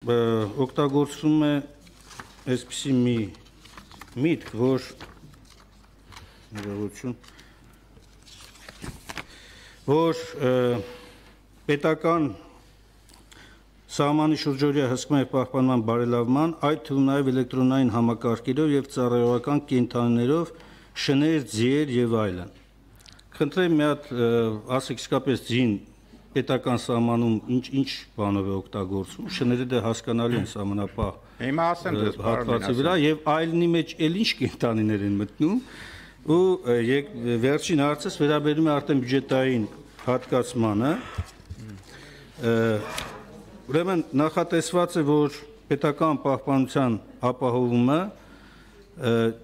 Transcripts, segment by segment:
օգտագործվում է այսպիսի մի միտք, որ պետական սահմանի շուրջօրյա հսկման և պահպանման բարելավման, այդ թվում նաև էլեկտրոնային համակարգերով և ծառայողական կենդանիներով, շներ, ձիեր և այլն։ Խնդրեմ մի հատ ասեք իսկապես ձին պետական սահմանում ինչ բանով է օգտագործվում, շները դե հասկանալի են սահմանապահ հատվածի վրա և այլնի մեջ էլ ինչ կենդանիներ են մտնում ու վերջին հարցս վերաբերում է արդեն բյուջետային հատկացմանը, ուրեմն նախատեսված է, որ պետական պահպանության ապահովումը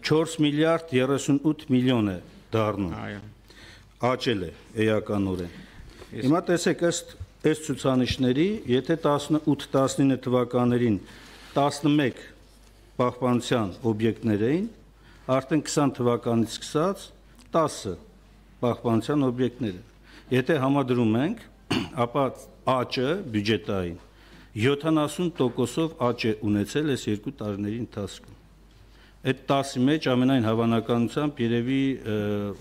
4 միլիարդ 38 միլիոն է դառնում, աճել է էականորեն։ Հիմա տեսեք ըստ այս ցուցանիշների, եթե 18-19 թվականներին 11 պահպանության օբյեկտներ էին, արդեն 20 թվականից սկսած 10 պահպանության օբյեկտներ են։ Եթե համադրում ենք, ապա աճը բյուջետային 70%-ով աճ է ունեցել այս երկու տարիների ընթացքում։ Այդ 10-ի մեջ ամենայն հավանականությամբ երևի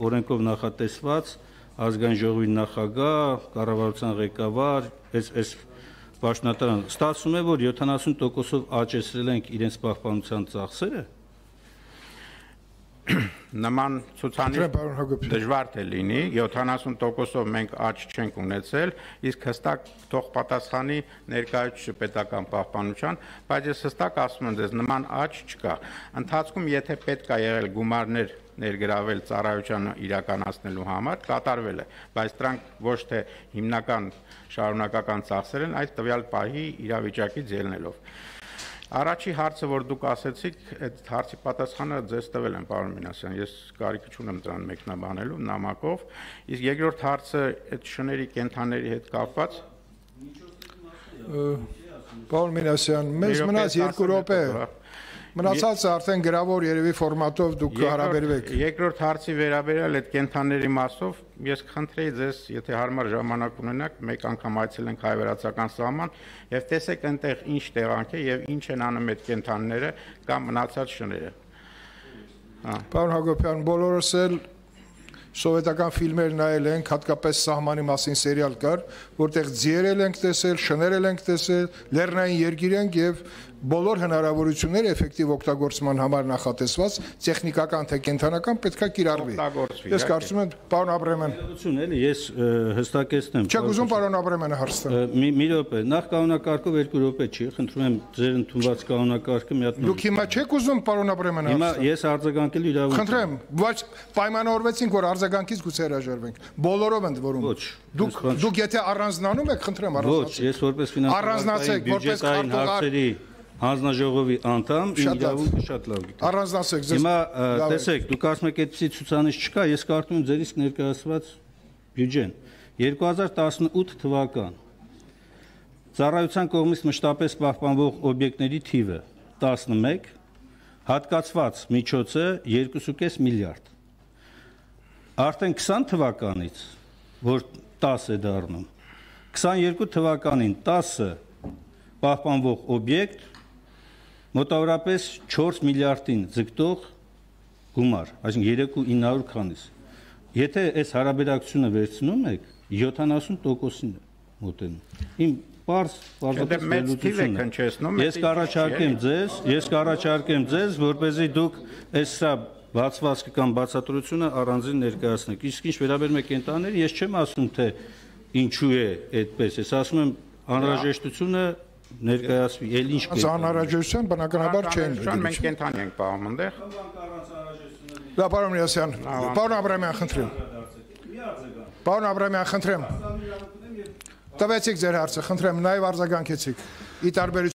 օրենքով նախատեսված ազգային ժողովի նախագահ, կառավարության ղեկավար, այս պաշտոնատարան ստացվում է, որ 70%-ով աճեցրել ենք իրենց պահպանության ծախսերը։ Նման ցուցանիշ դժվար է լինի, 70%-ով մենք աճ չենք ունեցել, իսկ հստակ թող պատասխանի ներկայացուցիչը պետական պահպանության, բայց ես հստակ ասում եմ դες նման աճ չկա։ Ընթացքում եթե պետք է եղել գումարներ ներգրավել ծառայությանը իրականացնելու համար, կատարվել է, բայց դրանք ոչ թե հիմնական շարունակական ծախսեր են, այդ տվյալ պահի իրավիճակից ելնելով։ Առաջի հարցը, որ դուք ասեցիք, այդ հարցի պատասխանը ձեզ տվել եմ, պարոն Մինասյան, ես կարիք չունեմ դրան մեկնաբանելու նամակով, իսկ երկրորդ հարցը այդ շների կենդանների հետ կապված։ Պարոն Մինասյան, մեզ մնաց 2 րոպե։ Մնացածը արդեն գրավոր երևի ֆորմատով դուք հարաբերվեք։ Երկրորդ հարցի վերաբերյալ այդ կենդանների մասով ես խնդրեի ձեզ, եթե հարմար ժամանակ ունենաք, մեկ անգամ այցելենք հայ-վրացական սահման եւ տեսեք այնտեղ ինչ տեղանք է եւ ինչ են անում այդ կենդանները կամ մնացած շները։ Պարոն Հակոբյան, բոլորս էլ սովետական ֆիլմեր նայել ենք, հատկապես սահմանի մասին սերիալ կար, որտեղ ձիեր ենք տեսել, շներ ենք տեսել, լեռնային երկիր ենք եւ բոլոր հնարավորությունները էֆեկտիվ օգտագործման համար նախատեսված տեխնիկական թե կենտրոնական պետքա կիրառվի։ Ես կարծում եմ, պարոն Աբրահամյան, էլի ես հստակեցնեմ։ Չեք ուզում պարոն Աբրահամյանը հարցնել։ Մի րոպե, նախ կանոնակարգով 2 րոպե չի, խնդրում եմ ձեր ընդունված կանոնակարգը մի հատ։ Դուք հիմա չեք ուզում պարոն Աբրահամյանը հարցնել։ Հիմա ես արձագանքելու իրավունք։ Խնդրեմ, բայց պայմանավորվեցինք, որ արձագանքից գուցե հրաժարվենք։ Բոլորով ընդ որում։ Ոչ։ Դուք եթե առանձնանում եք, խնդրեմ Ոչ, առանձնացեք։ ես որպես ֆինանսական բյուջետային հարցերի հանձնաժողովի անդամ իրավունքը շատ լավ գիտեմ։ Առանձնացեք ձեզ։ Հիմա տեսեք, դուք ասում եք այդպիսի ցուցանիշ չկա, ես կարդում եմ ձեր իսկ ներկայացված բյուջեն։ 2018 թվական ծառայության կողմից մշտապես պահպանվող օբյեկտների թիվը 11, հատկացված միջոցը 2.5 միլիարդ։ Արդեն 20 թվականից, որ 10 է դառնում, 22 թվականին 10 պահպանվող օբյեկտ մոտավորապես 4 միլիարդին ձգտող գումար, այսինքն 3.900 քանիս։ Եթե այս հարաբերակցությունը վերցնում եք, 70%-ին է մոտենում։ Իմ Ես կառաջարկեմ ձեզ, որպեսզի դուք այս սա բացվածքը կամ բացատրությունը առանձին ներկայացնեք։ Իսկ ինչ վերաբերում է կենտրոններին, ես չեմ ասում, թե ինչու է այդպես, ես ասում եմ անհրաժեշտությունը ներկայացվի, էլ ինչ կենտրոն։ Անհրաժեշտության բնականաբար չեն դիտում։ Մենք կենտրոն ենք պահում այնտեղ։ Դա պարոն Մինասյան, պարոն Աբրահամյան, խնդրեմ։ Պարոն Աբրահամյան, խնդրեմ։ Տվեցիք ձեր հարցը, խնդրեմ, նաև արձագանքեցիք։ Ի տարբերություն